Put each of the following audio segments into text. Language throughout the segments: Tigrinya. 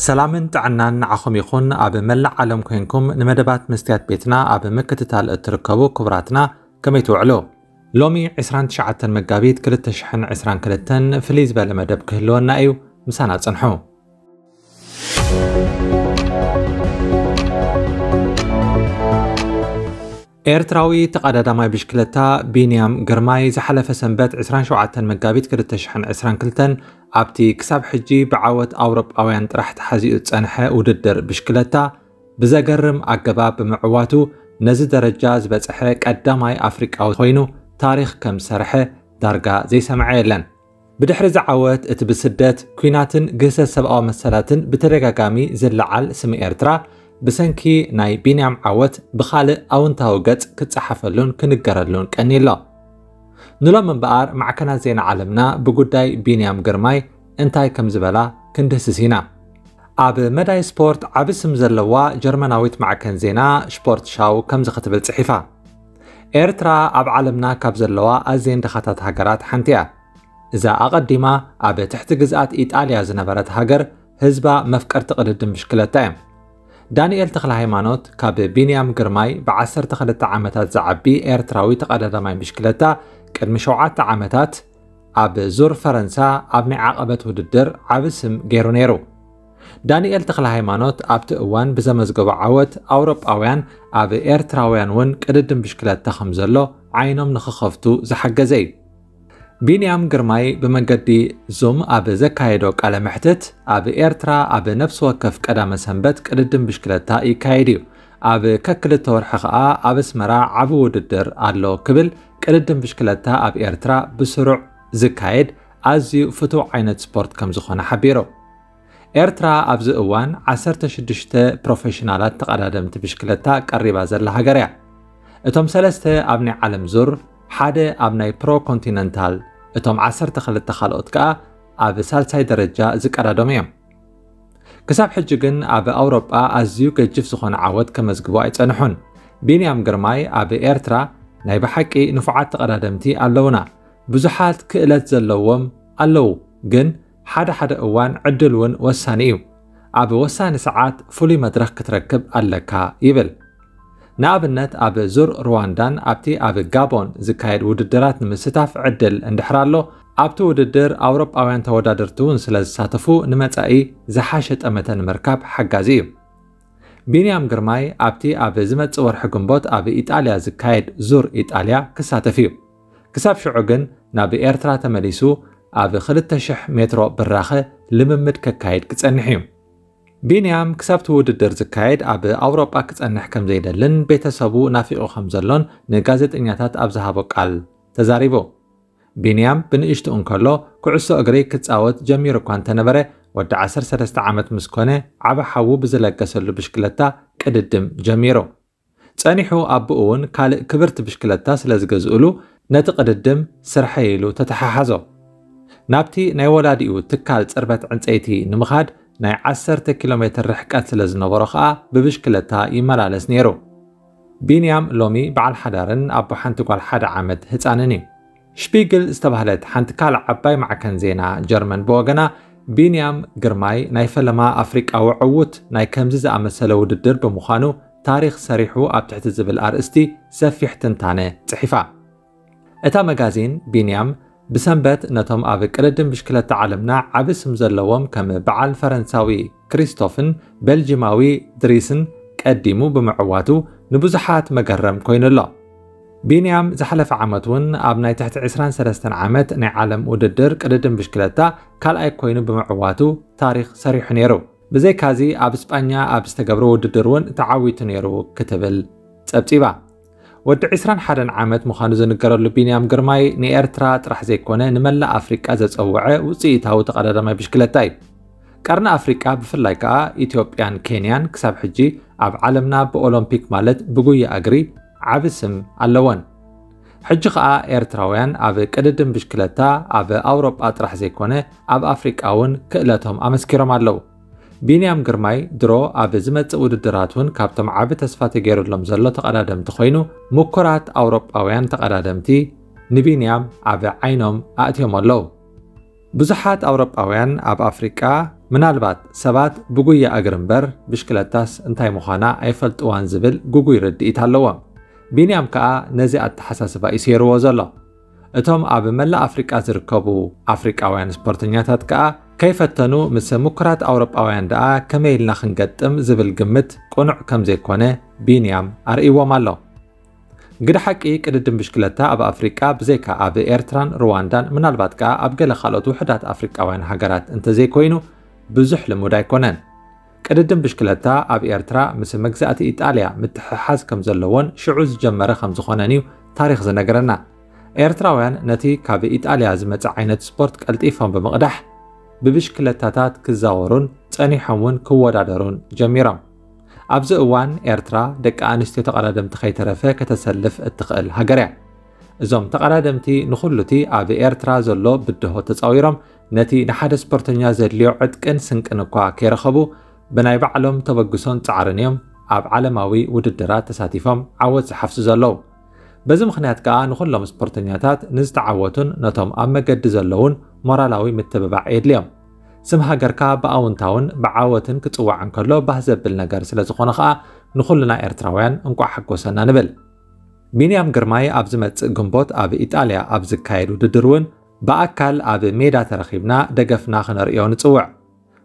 ሰላምን ጥዕናን ንዓኹም ይኹን። ኣብ መላእ ዓለም ኮይንኩም ንመደባት መስትያት ቤትና ኣብ ምክትታል እትርከቡ ክቡራትና፣ ከመይ ትውዕሉ? ሎሚ ዕስራን ትሽዓተን መጋቢት ክልተ ሽሕን ዕስራን ክልተን ፍልይ ዝበለ መደብ ክህልወና እዩ። ምሳና ጽንሑ። ኤርትራዊ ተቐዳዳማይ ብሽክለታ ቢንያም ግርማይ ዝሓለፈ ሰንበት ዕስራን ሸውዓተን መጋቢት ክልተ ሽሕን ዕስራን ክልተን ኣብቲ ክሳብ ሕጂ ብዓወት ኣውሮጳውያን ጥራሕ ተሓዚኡ ዝጸንሐ ውድድር ብሽክለታ ብዘገርም ኣገባብ ብምዕዋቱ ነዚ ደረጃ ዝበጽሐ ቀዳማይ ኣፍሪቃዊ ኮይኑ ታሪኽ ከም ዝሰርሐ ዳርጋ ዘይሰምዐ የለን። ብድሕሪ እዚ ዓወት እቲ ብስደት፣ ኲናትን ግህሰት ሰብኣዊ መሰላትን ብተደጋጋሚ ዝለዓል ስም ኤርትራ ብሰንኪ ናይ ቢንያም ዓወት ብኻልእ ኣውንታዊ ገጽ ክጸሓፈሉን ክንገረሉን ቀንዩ ኣሎ። ንሎም እምበኣር ማዕከናት ዜና ዓለምና ብጉዳይ ቢንያም ግርማይ እንታይ ከም ዝበላ ክንድህስስ ኢና። ኣብ መዳይ ስፖርት ዓቢ ስም ዘለዋ ጀርመናዊት ማዕከን ዜና ሽፖርት ሻው ከምዚ ክትብል ጽሒፋ። ኤርትራ ኣብ ዓለምና ካብ ዘለዋ ኣዝየን ድኻታት ሃገራት ሓንቲ እያ። እዛ ኣቐዲማ ኣብ ትሕቲ ግዝኣት ኢጣልያ ዝነበረት ሃገር ህዝባ መፍቀርቲ ቅድድም ብሽክለታ እዮም። ዳንኤል ተኽለ ሃይማኖት ካብ ቢንያም ግርማይ ብዓሰርተ ክልተ ዓመታት ዝዓቢ ኤርትራዊ ተቐዳዳማይ ብሽክለታ ቅድሚ ሸውዓተ ዓመታት ኣብ ዙር ፈረንሳ ኣብ ናይ ዓቐበት ውድድር ዓቢ ስም ገይሩ ነይሩ። ዳንኤል ተኽለ ሃይማኖት ኣብቲ እዋን ብዘመዝገቦ ዓወት ኣውሮጳውያን ኣብ ኤርትራውያን እውን ቅድድም ብሽክለታ ከም ዘሎ ዓይኖም ንኽኸፍቱ ዝሓገዘ እዩ። ቢንያም ግርማይ ብመገዲ ዙም ኣብ ዘካየዶ ቃለ መሕትት ኣብ ኤርትራ ኣብ ነፍሲ ወከፍ ቀዳመ ሰንበት ቅድድም ብሽክለታ ይካየድ እዩ። ኣብ ከክልተ ወርሒ ኸኣ ኣብ ኣስመራ ዓቢ ውድድር ኣሎ ክብል ቅድድም ብሽክለታ ኣብ ኤርትራ ብስሩዕ ዝካየድ ኣዝዩ ፍቱው ዓይነት ስፖርት ከም ዝኾነ ሓቢሩ። ኤርትራ ኣብዚ እዋን ዓሰርተ ሽዱሽተ ፕሮፌሽናላት ተቐዳደምቲ ብሽክለታ ቀሪባ ዘላ ሃገር እያ። እቶም ሰለስተ ኣብ ናይ ዓለም ዙር፣ ሓደ ኣብ ናይ ፕሮ ኮንቲነንታል፣ እቶም ዓሰርተ ክልተ ካልኦት ከኣ ኣብ ሳልሳይ ደረጃ ዝቀዳደሙ እዮም። ክሳብ ሕጂ ግን ኣብ ኣውሮጳ ኣዝዩ ገጅፍ ዝኾነ ዓወት ከመዝግቡ ኣይጸንሑን። ቢንያም ግርማይ ኣብ ኤርትራ ናይ ብሓቂ ንፉዓት ተቐዳደምቲ ኣለውና። ብዙሓት ክእለት ዘለዎም ኣለዉ፣ ግን ሓደ ሓደ እዋን ዕድል እውን ወሳኒ እዩ። ኣብ ወሳኒ ሰዓት ፍሉይ መድረኽ ክትረክብ ኣለካ ይብል። ንኣብነት ኣብ ዙር ሩዋንዳን ኣብቲ ኣብ ጋቦን ዝካየድ ውድድራት ንምስታፍ ዕድል እንድሕር ኣሎ፣ ኣብቲ ውድድር ኣውሮጳውያን ተወዳደርቲ እውን ስለ ዝሳተፉ ንመጻኢ ዝሓሸ ጠመተ ንምርካብ ሓጋዚ እዩ። ቢንያም ግርማይ ኣብቲ ኣብ ዝመጽእ ወርሒ ግንቦት ኣብ ኢጣልያ ዝካየድ ዙር ኢጣልያ ክሳተፍ እዩ። ክሳብ ሽዑ ግን ናብ ኤርትራ ተመሊሱ ኣብ ክልተ ሽሕ ሜትሮ ብራኸ ልምምድ ከካይድ ክጸንሕ እዩ። ቢንያም ክሳብቲ ውድድር ዝካየድ ኣብ ኣውሮጳ ክጸንሕ ከም ዘይደልን ቤተሰቡ ናፊቑ ከም ዘሎን ንጋዜጠኛታት ኣብ ዝሃቦ ቃል ተዛሪቡ። ቢንያም ብንእሽቱ እንከሎ ኩዕሶ እግሪ ክጻወት ጀሚሩ እኳ እንተነበረ፣ ወዲ ዓሰርተ ሰለስተ ዓመት ምስ ኮነ ዓቢ ሓዉ ብዝለገሰሉ ብሽክለታ ቅድድም ጀሚሩ። ጸኒሑ ኣቦኡ እውን ካልእ ክብርቲ ብሽክለታ ስለ ዝገዝእሉ ነቲ ቅድድም ስርሐይ ኢሉ ተተሓሓዞ። ናብቲ ናይ ወላዲኡ ትካል ጽርበት ዕንጸይቲ ንምኻድ ናይ ዓሰርተ ኪሎ ሜትር ርሕቀት ስለ ዝነበሮ ኸኣ ብብሽክለታ ይመላለስ ነይሩ። ቢንያም ሎሚ በዓል ሓዳርን ኣቦ ሓንቲ ጓል ሓደ ዓመት ህጻንን እዩ። ሽፒግል ዝተባህለት ሓንቲ ካልእ ዓባይ ማዕከን ዜና ጀርመን ብወገና፣ ቢንያም ግርማይ ናይ ፈለማ ኣፍሪቃዊ ዕዉት ናይ ከምዚ ዝኣመሰለ ውድድር ብምዃኑ ታሪኽ ሰሪሑ ኣብ ትሕቲ ዝብል ኣርእስቲ ሰፊሕ ትንታነ ጽሒፋ። እታ መጋዚን ቢንያም ብሰንበት ነቶም ኣብ ቅድድም ብሽክለታ ዓለምና ዓቢ ስም ዘለዎም ከም በዓል ፈረንሳዊ ክሪስቶፍን ቤልጂማዊ ድሪስን ቀዲሙ ብምዕዋቱ ንብዙሓት መገረም ኮይኑ ኣሎ። ቢንያም ዝሓለፈ ዓመት እውን ኣብ ናይ ትሕቲ ዕስራን ሰለስተን ዓመት ናይ ዓለም ውድድር ቅድድም ብሽክለታ ካልኣይ ኮይኑ ብምዕዋቱ ታሪኽ ሰሪሑ ነይሩ። ብዘይካዚ ኣብ ስጳኛ ኣብ ዝተገብረ ውድድር እውን ተዓዊቱ ነይሩ ክትብል ጸብጺባ። ወዲ ዕስራን ሓደን ዓመት ምዃኑ ዝንገረሉ ቢንያም ግርማይ ንኤርትራ ጥራሕ ዘይኮነ ንመላእ ኣፍሪቃ ዘጸውዐ ውጽኢታዊ ተቐዳዳማይ ብሽክለታ እዩ። ቀርኒ ኣፍሪቃ ብፍላይ ከኣ ኢትዮጵያን ኬንያን ክሳብ ሕጂ ኣብ ዓለምና ብኦሎምፒክ ማለት ብጉያ እግሪ ዓቢ ስም ኣለወን። ሕጂ ከኣ ኤርትራውያን ኣብ ቅድድም ብሽክለታ ኣብ ኣውሮጳ ጥራሕ ዘይኮነ ኣብ ኣፍሪቃ እውን ክእለቶም ኣመስኪሮም ኣለዉ። ቢንያም ግርማይ ድሮ ኣብ ዝመጽእ ውድድራት እውን ካብቶም ዓቢ ተስፋ ተገይሩሎም ዘሎ ተቐዳደምቲ ኮይኑ፣ ምኩራት ኣውሮጳውያን ተቐዳደምቲ ንቢንያም ኣብ ዓይኖም ኣእትዮም ኣለዉ። ብዙሓት ኣውሮጳውያን ኣብ ኣፍሪቃ ምናልባት ሰባት ብጉያ እግሪ እምበር ብሽክለታስ እንታይ ምዃና ኣይፈልጥዋን ዝብል ግጉይ ርድኢት ኣለዎም። ቢንያም ከኣ ነዚ ኣተሓሳስባ እዩ ሰይርዎ ዘሎ። እቶም ኣብ መላእ ኣፍሪቃ ዝርከቡ ኣፍሪቃውያን ስፖርተኛታት ከኣ ከይፈተኑ ምስ ምኩራት ኣውሮጳውያን ደኣ ከመይ ኢልና ክንገጥም ዝብል ግምት ቅኑዕ ከም ዘይኮነ ቢንያም ኣርእይዎም ኣሎ። ግደ ሓቂ ቅድድም ብሽክለታ ኣብ ኣፍሪቃ ብዘይካ ኣብ ኤርትራን ሩዋንዳን ምናልባት ከኣ ኣብ ገለ ካልኦት ውሑዳት ኣፍሪቃውያን ሃገራት እንተዘይኮይኑ ብዙሕ ልሙድ ኣይኮነን። ቅድድም ብሽክለታ ኣብ ኤርትራ ምስ መግዛእቲ ኢጣልያ ምትሕሓዝ ከም ዘለዎን ሽዑ ዝጀመረ ከም ዝኾነን እዩ ታሪኽ ዝነግረና። ኤርትራውያን ነቲ ካብ ኢጣልያ ዝመጽእ ዓይነት ስፖርት ቀልጢፎም ብምቕዳሕ ብብሽክለታታት ክዛወሩን ጸኒሖም እውን ክወዳደሩን ጀሚሮም። ኣብዚ እዋን ኤርትራ ደቂ ኣንስትዮ ተቐዳደምቲ ከይተረፈ ከተሰልፍ እትኽእል ሃገር እያ። እዞም ተቐዳደምቲ ንኹሉቲ ኣብ ኤርትራ ዘሎ ብድሆ ተጻዊሮም ነቲ ንሓደ ስፖርተኛ ዘድልዮ ዕጥቅን ስንቅን እኳ ከይረኸቡ ብናይ ባዕሎም ተበግሶን ጻዕርን እዮም ኣብ ዓለማዊ ውድድራት ተሳቲፎም ዓወት ዝሓፍሱ ዘለዉ። በዚ ምኽንያት ከኣ ንኹሎም ስፖርተኛታት ንዝተዓወቱን ነቶም ኣብ መገዲ ዘለዉን ሞራላዊ ምትብባዕ የድልዮም። ስም ሃገርካ ብኣውንታውን ብዓወትን ክጽዋዕ እንከሎ ባህ ዘብል ነገር ስለ ዝኾነ ከኣ ንኹልና ኤርትራውያን እንቋዕ ሓጎሰና ንብል። ቢንያም ግርማይ ኣብ ዝመጽእ ግንቦት ኣብ ኢጣልያ ኣብ ዝካየድ ውድድር እውን ብኣካል ኣብ ሜዳ ተረኺብና ደገፍና ክነርእዮ ንጽውዕ።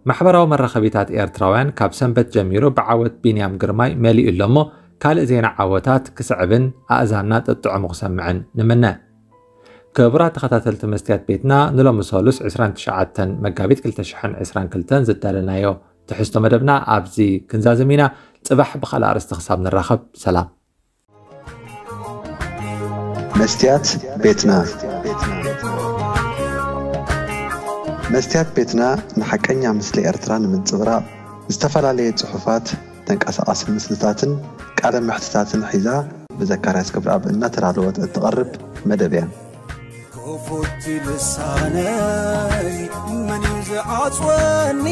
ማሕበራዊ መራኸቢታት ኤርትራውያን ካብ ሰንበት ጀሚሩ ብዓወት ቢንያም ግርማይ መሊኡ ኣሎ እሞ ካልእ ዜና ዓወታት ክስዕብን ኣእዛንና ጥጥዕሙ ክሰምዕን ንምነ። ክቡራት ተኸታተልቲ መስትያት ቤትና ንሎሚ ሰሉስ ዕስራን ትሽዓተን መጋቢት ክልተ ሽሕን ዕስራን ክልተን ዝዳለናዮ ትሕዝቶ መደብና ኣብዚ ክንዛዝም ኢና። ጽባሕ ብኻልእ ኣርእስቲ ክሳብ ንራኸብ ሰላም። መስትያት ቤትና መስትያት ቤትና ንሓቀኛ ምስሊ ኤርትራ ንምንጽብራቕ ዝተፈላለየ ጽሑፋት፣ ተንቀሳቓሲ ምስልታትን ቃለ መሕትታትን ሒዛ ብዘካርያስ ክብረኣብ እናተዳለወት እትቐርብ መደብ እያ። ክፉት ልሳነይ መን እዩ ዝዓጽወኒ?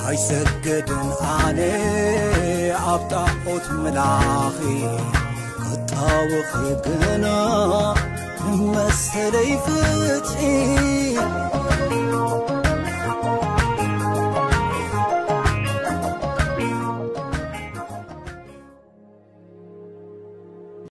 ኣይሰግድን ኣነ ኣብ ጣዖት ምላኺ ክጣወኺ ግና መሰለይ ፍትሒ